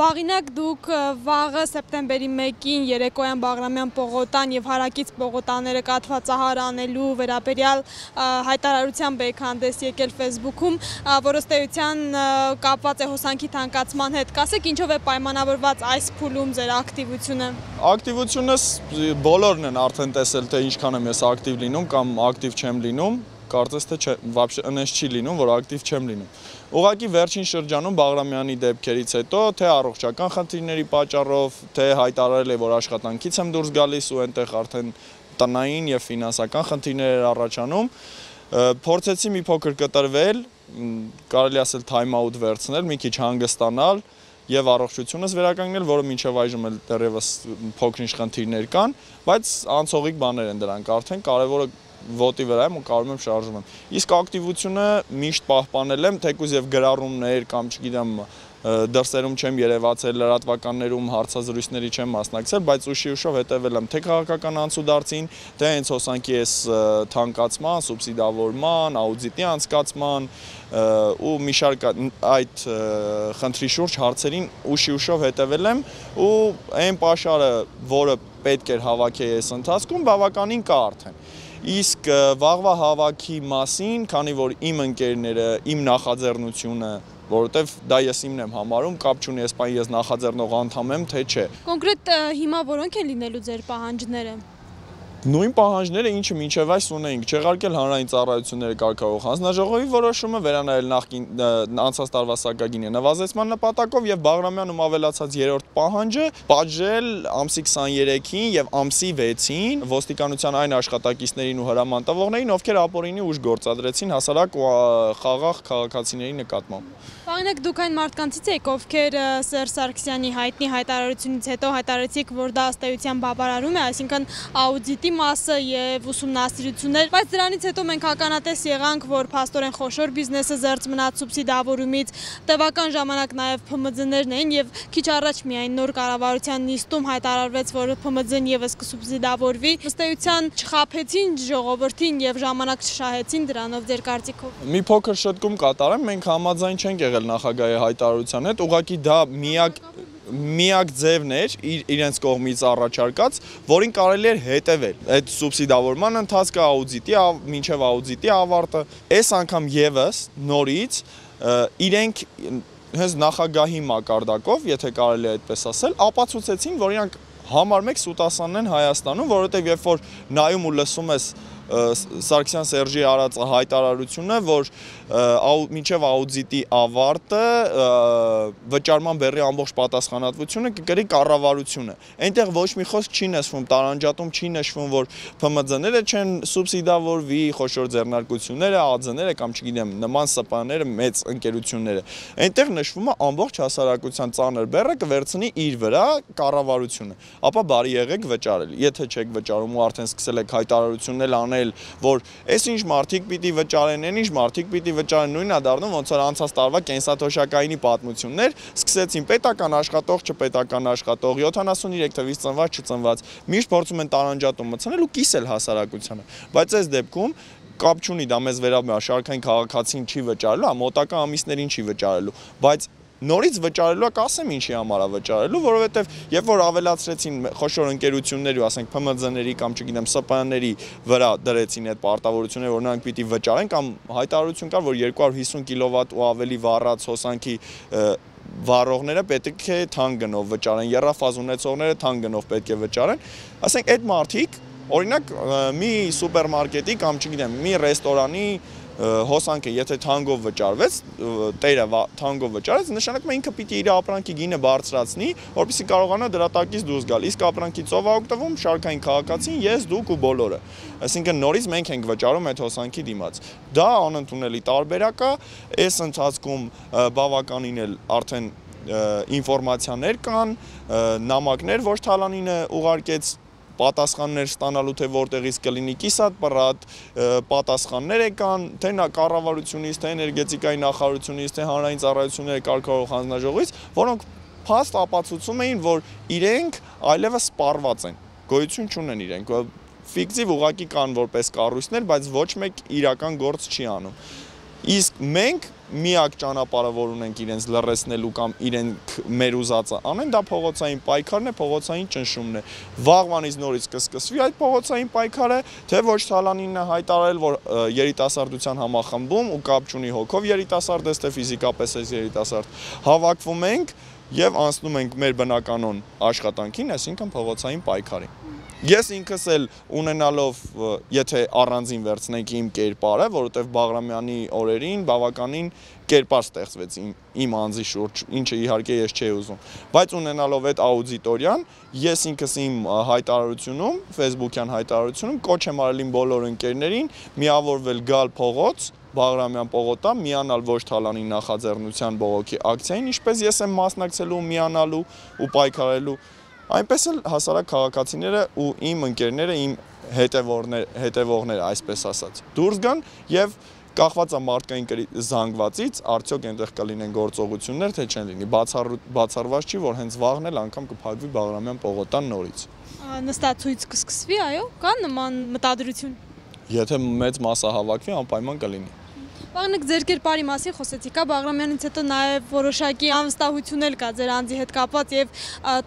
Վաղինակ դուք վաղը սեպտեմբերի 1-ին երեկոյան Բաղրամյան պողոտան եւ հարակից պողոտաները կաթվածահար անելու վերաբերյալ հայտարարությամբ եք հանդես եկել Facebook-ում, որը ըստեյության կապված է հոսանքի թանկացման հետ։ Կասեք, ինչով է պայմանավորված այս փուլում ձեր ակտիվությունը։ Ակտիվությունս բոլորն են արդեն տեսել, թե ինչքան եմ ես ակտիվ լինում կամ ակտիվ չեմ լինում, կարծես թե вообще այնպես չի լինում, որ ակտիվ չեմ լինում։ Ուղղակի վերջին շրջանում Բաղրամյանի դեպքերից հետո, թե առողջական խնդիրների պատճառով, թե հայտարարել է, որ աշխատանքից եմ դուրս գալիս ու այնտեղ արդեն տնային եւ ֆինանսական խնդիրներ էր առաջանում, փորձեցի մի փոքր կտրվել, կարելի ասել time out վերցնել, մի քիչ հանգստանալ եւ առողջությունս վերականգնել, որը մինչեւ այժմ էլ դեռևս փոքր-ինչ խնդիրներ կան, բայց անցողիկ բաներ են դրանք, արդեն կարևորը ոտի վրա եմ ու կարում եմ շարժում եմ։ Իսկ ակտիվությունը միշտ պահպանել եմ, թեկուզ եւ գրառումներ կամ չգիտեմ դրսերում չեմ երևացել, լրատվականներում հարցազրույցների չեմ մասնակցել, բայց ուշի-ուշով հետևել եմ թե քաղաքական անցուդարձին, թե հենց հոսանքի այս թանկացման, սուբսիդավորման, աուդիտի անցկացման ու մի շարք այդ խնդրի շուրջ հարցերին ուշի-ուշով հետևել եմ ու այն պաշարը, որը պետք էր հավաքել այս ընթացքում, բավականին կա արդեն։ Իսկ վաղվա հավաքի մասին, քանի որ իմ ընկերները, իմ նախաձեռնությունը, որովհետև դա ես իմն եմ համարում, կապ չունի այսպես ես նախաձեռնող անդամ եմ, թե չէ։ Կոնկրետ հիմա որոնք են լինելու ձեր պահանջները։ Նույն պահանջները, ինչը մինչև այս ունեինք, չեղարկել հանրային ծառայությունների կարգավորող հանձնաժողովի որոշումը, վերանայել անցած տարվա սակագինի նվազեցման նպատակով եւ Բաղրամյանում ավելացած երրորդ պահանջը պատժել ամսի 23-ին եւ ամսի 6-ին ոստիկանության այն աշխատակիցներին ու հրաման տվողներին, ովքեր ապօրինի ուժ գործադրեցին հասարակ ու խաղաղ քաղաքացիների նկատմամբ։ Վաղինակ դուք այն մարդկանցից եք, ովքեր Սերժ Սարգսյանի հայտնի հայտարարությունից հետո հայտարարեցիք, որ դա ըստ էության բավարարում է, այսինքն աուդիտի մասը եւ ուսումնասիրություններ, բայց դրանից հետո մենք ականատես եղանք, որ փաստորեն խոշոր բիզնեսը զերծ մնաց սուբսիդավորումից, տևական ժամանակ նաեւ ՓՄԶ-ներն էին եւ քիչ առաջ միայն նոր կառավարության նիստում հայտարարվեց, որ ՓՄԶ-ն եւս կսուբսիդավորվի, ըստ էության չխաբեցին ժողովրդին եւ ժամանակ չշահեցին դրանով ձեր կարծիքով։ Մի փոքր շտկում կատարեմ, մենք համաձայն չենք եղել նախագահի հայտարարության հետ, ուղղակի դա միակ ձևն էր իրենց կողմից առաջարկած, որին կարելի էր հետևել։ Այդ սուբսիդավորման ընթացքը մինչև աուդիտի ավարտը, այս անգամ եւս նորից իրենք հենց նախագահի մակարդակով, եթե կարելի է այդպես ասել, ապացուցեցին, որ իրանք համար մեկ սուտասանն են Հայաստանում, որովհետեւ երբ որ նայում ու լսում ես Սարգսյան Սերժի արած հայտարարությունը, որ մինչև աուդիտի ավարտը վճարման բեռի ամբողջ պատասխանատվությունը կկրի կառավարությունը։ Այնտեղ ոչ մի խոսք չի նշվում, տարանջատում չի նշվում, որ ՓՄԶ-ները չեն սուբսիդավորվի, խոշոր ձեռնարկությունները, ԱԾ-ները կամ չգիտեմ, նման ՍՊԸ-ները, մեծ ընկերությունները։ Այնտեղ նշվում է ամբողջ հասարակության ծանր բեռը կվերցնի իր վրա կառավարությունը։ Ապա բարի եղեք վճարել։ Եթե չեք վճարում ու արդեն սկսել եք հայտարարություններ անել, որ այսինչ մարդիկ պիտի վճարեն, այնինչ մարդիկ պիտի վճարեն, նույնն է դառնում ոնց որ անցած տարվա կենսաթոշակայինի պատմություններ, սկսեցին պետական աշխատող, չպետական աշխատող, 73 թվից ծնված, չծնված, միշտ փորձում են տարանջատում մտցնել ու կիսել հասարակությանը, բայց այս դեպքում կապ չունի դա մեզ վերաբերում է, շարքային քաղաքացին չի վճարելու, մոտակա ամիսներին չի վճարելու, բայց նորից վճարելու կասեմ ինչի համար է վճարելու, որովհետև երբ որ ավելացրեցին խոշոր ընկերությունների, ասենք ՓՄԶ-ների կամ չգիտեմ ՍՊԸ-ների վրա դրեցին այդ պարտավորությունները, որ նրանք պիտի վճարեն կամ հայտարարություն կար, որ 250 կիլովատ ու ավելի վառած հոսանքի վառողները պետք է թանկ գնով վճարեն, եռաֆազ ունեցողները թանկ գնով պետք է վճարեն, ասենք այդ մարդիկ, օրինակ մի սուպերմարկետի կամ չգիտեմ, մի ռեստորանի հոսանքը, եթե թանգով վճարվեց, տերը թանգով վճարեց, նշանակում է ինքը պիտի իր ապրանքի գինը բարձրացնի, որպեսզի կարողանա դրա տակից դուրս գալ։ Իսկ ապրանքի ծով է օգտվում շարքային քաղաքացին, ես, դուք ու բոլորը։ Այսինքն նորից մենք ենք վճարում այդ հոսանքի դիմաց։ Դա անընդունելի տարբերակ է, այս ընթացքում բավականին էլ արդեն ինֆորմացիաներ կան, նամակներ, որ Թալանինը ուղարկեց պատասխաններ ստանալու թե որտեղից կլինի կիսատ պռատ, պատասխաններ եկան, թե կառավարությունից, թե էներգետիկայի նախարարությունից, թե հանրային ծառայությունների կարգավորող հանձնաժողովից, որոնք փաստ ապացուցում էին, որ իրենք այլևս սպառված են, գոյություն չունեն իրենք, ֆիկտիվ ուղղակի կան որպես կառույցներ, բայց ոչ մեկ իրական գործ չի անում։ Իսկ մենք միակ ճանապարհը, որ ունենք իրենց լռեցնելու կամ իրենք մեր ուզածը անեն, դա փողոցային պայքարն է, փողոցային ճնշումն է։ Վաղվանից նորից կսկսվի այդ փողոցային պայքարը, թե ոչ Թալանինն է հայտարարել, որ երիտասարդության համախմբում ու կապ չունի հոգով երիտասարդ է, թե ֆիզիկապես է երիտասարդ, հավաքվում ենք եւ անցնում ենք մեր բնականon աշխատանքին, այսինքն փողոցային պայքարին։ Ես ինքս էլ ունենալով, եթե առանձին վերցնենք իմ կերպարը, որովհետև Բաղրամյանի օրերին բավականին կերպար ստեղծվեց իմ անձի շուրջ, ինչը իհարկե ես չէի ուզում, բայց ունենալով այդ աուդիտորիան, ես ինքս իմ հայտարարությունում, Facebook-յան հայտարարությունում կոչ եմ արել իմ բոլոր ընկերներին միավորվել գալ փողոց, Բաղրամյան պողոտա, միանալ ոչ Թալանի նախաձեռնության բողոքի ակցիային, ինչպես ես եմ մասնակցելու, միանալու ու պայքարելու, այնպես էլ հասարակ քաղաքացիները ու իմ ընկերները, իմ հետևողները, այսպես ասած, դուրս գան եւ կախված է մարդկային զանգվածից, արդյոք այնտեղ կլինեն գործողություններ, թե չեն լինի, բացառված չի, որ հենց վաղն էլ անգամ կփակվի Բաղրամյան պողոտան նորից։ Նստացույց կսկսվի, այո, կա նման մտադրություն։ Եթե մեծ մասը հավաքվի, անպայման կլինի։ Բաղնիկ ձեր կերպարի մասին խոսեցիք, Բաղրամյանից հետո նաև որոշակի անվստահություն էլ կա ձեր անձի հետ կապված եւ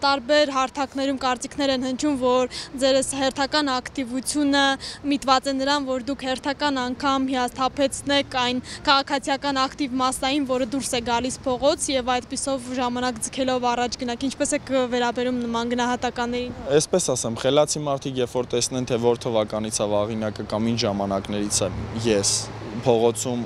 տարբեր հարթակներում կարծիքներ են հնչում, որ ձեր հերթական ակտիվությունը միտված է նրան, որ դուք հերթական անգամ հիասթափեցնեք այն քաղաքացիական ակտիվ մասային, որը դուրս է գալիս փողոց եւ այդպիսով ժամանակ ձգելով առաջ գնաք, ինչպես եք վերաբերում նման գնահատականներին։ Այսպես ասեմ, խելացի մարդիկ երբ որ տեսնեն, թե որ թվականից է վաղինակը կամ ինչ ժամանակներից է ես փողոցում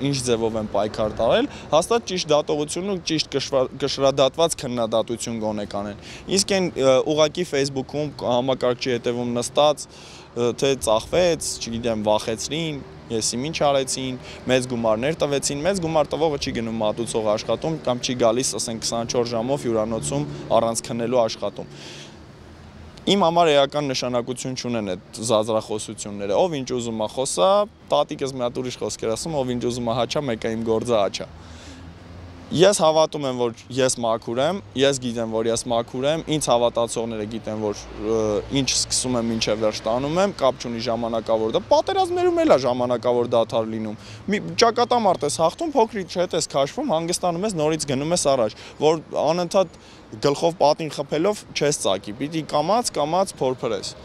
ինչ ձևով են պայքար տարել, հաստատ ճիշտ դատողություն ու ճիշտ կշռադատված քննադատություն գոնե կանեն։ Իսկ այն ուղղակի Facebook-ում համակարգչի հետևում նստած, թե ծախվեց, չգիտեմ, վախեցրին, եսի ինչ արեցին, մեծ գումարներ տվեցին, մեծ գումար տվողը չի գնում մատուցող աշխատում կամ չի գալիս, ասենք 24 ժամով հյուրանոցում առանց քննելու աշխատում։ Իմ համար էական նշանակություն չունեն այդ զազրախոսությունները, ով ինչ ուզում է խոսա, տատիկս մի հատ ուրիշ խոսքեր ասում, ով ինչ ուզում է հաչա, մեկը իմ գործը հաչա։ Ես հավատում եմ, որ ես մաքուր եմ, ես գիտեմ, որ ես մաքուր եմ, ինձ հավատացողները գիտեն, որ ինչ սկսում եմ, ինչև վերջ տանում եմ, կապ չունի ժամանակավոր դա, պատերազմներում էլ է ժամանակավոր դադար լինում։ Ճակատամարտ ես հաղթում, փոքրիկ հետ ես քաշվում, հանգստանում ես, նորից գնում ես առաջ, որ անընդհատ գլխով պատին խփելով չես ծակի, պիտի կամաց փորփրես։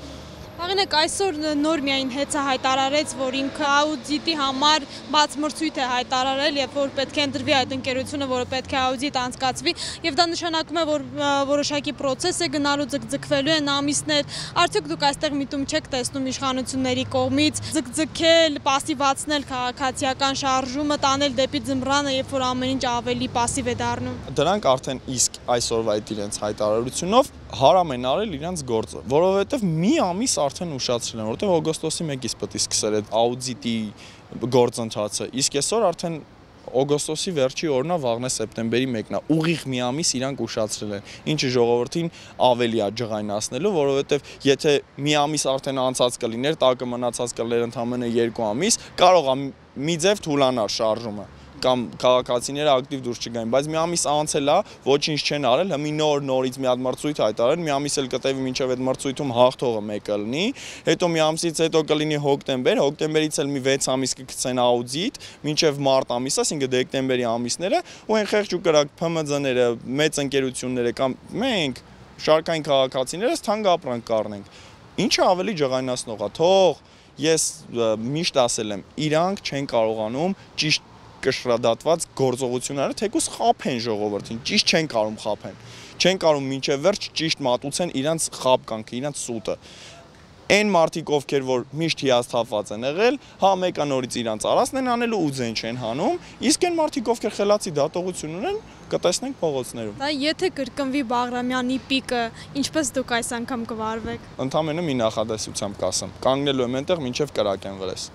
Աղինեք, այսօր նոր միայն հեծը հայտարարեց, որ ինքը աուդիտի համար բաց մրցույթ է հայտարարել եւ որ պետք է ընտրվի այդ ընկերությունը, որը պետք է աուդիտ անցկացվի եւ դա նշանակում է, որ որոշակի process է գնալու, ձգձգվելու են ամիսներ։ Արդյոք դուք այստեղ միտում չեք տեսնում իշխանությունների կողմից ձգձգել, пассивացնել քաղաքացիական շարժումը, տանել դեպի ձմռանը, երբ որ ամեն ինչ ավելի пассив է դառնում։ Դրանք արդեն իսկ այսօրվա այդ իրենց հայտարարությունով հարամ են արել իրենց գործը, որովհետև մի ամիս արդեն ուշացրել են, որովհետև օգոստոսի 1-ից պետք է սկսել այդ աուդիտի գործընթացը, իսկ այսօր արդեն օգոստոսի վերջի օրն է, վաղն է սեպտեմբերի 1-ն է, ուղիղ մի ամիս իրանք ուշացրել են, ինչը ժողովրդին ավելի է ջղայնացնելու, որովհետև եթե մի ամիս արդեն անցած կլիներ, տակը մնացած կլիներ ընդամենը 2 ամիս, կարող է մի ձև թուլանար շարժումը կամ քաղաքացիները ակտիվ դուրս չգային, բայց մի ամիս անցել է, ոչինչ չեն արել, հիմի նորից մի հատ մրցույթ հայտարարել, մի ամիս էլ կտևի մինչև այդ մրցույթում հաղթողը մեկը լինի, հետո մի ամսից հետո կլինի հոկտեմբերից էլ մի 6 ամիս կգցեն աուդիտ, մինչև մարտ ամիսը, այսինքն դեկտեմբերի ամիսները, ու այն խեղճ ու կրակ ՓՄԶ-ները, մեծ ընկերությունները կամ մենք շարքային քաղաքացիներս թանկ ապրանք կառնենք։ Ինչը ավելի ջղայնացնող է, թող ես միշտ ասել եմ, իրանք չեն կարողանում ճիշտ կշռադատված գործողությունները թեկուզ խափեն ժողովրդին, ճիշտ չեն կարում խափեն, չեն կարում մինչև վերջ ճիշտ մատուցեն իրանց խապկանքը, իրանց սուտը։ Այն մարդիկ, ովքեր որ միշտ հիասթափված են եղել, հա մեկը նորից իրանց արածն են անելու ու ձեն չեն հանում, իսկ այն մարդիկ, ովքեր խելացի դատողություն ունեն, կտեսնենք փողոցներում։ Դա եթե կրկնվի Բաղրամյանի պիկը, ինչպես դուք այս անգամ կվարվեք։ Ընդամենը մի նախադասությամբ կասեմ, կանգնելու եմ այնտեղ, մինչև կրակեն վրես։